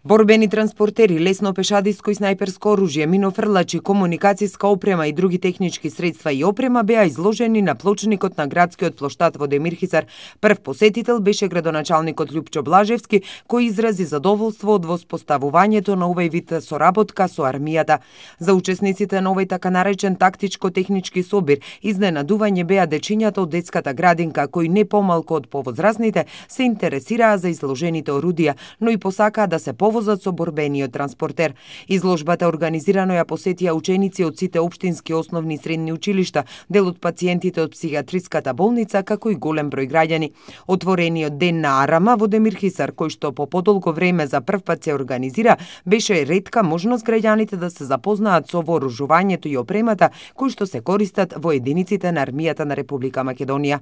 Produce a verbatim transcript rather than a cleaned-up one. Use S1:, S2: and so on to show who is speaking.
S1: Борбени транспортери, лесно пешадиско и снајперско оружје, минофрлачи, комуникацијска опрема и други технички средства и опрема беа изложени на плочникот на градскиот плоштад во Демирхисар. Прв посетител беше градоначалникот Љупчо Блажевски, кој изрази задоволство од воспоставувањето на овој вид соработка со армијата. За учесниците на овој така наречен тактичко-технички собир, изненадување беа дечињата од детската градинка, кои не помалку од повозрасните се интересираа за изложените орудија, но и посакаа да се возат со борбениот транспортер. Изложбата организирано ја посетија ученици од сите општински основни и средни училишта, дел од пациентите од психијатриската болница, како и голем број граѓани. Отворениот ден на Арама во Демирхисар, кој што по подолго време за прв пат се организира, беше ретка можност граѓаните да се запознаат со вооружувањето и опремата кои што се користат во единиците на армијата на Република Македонија.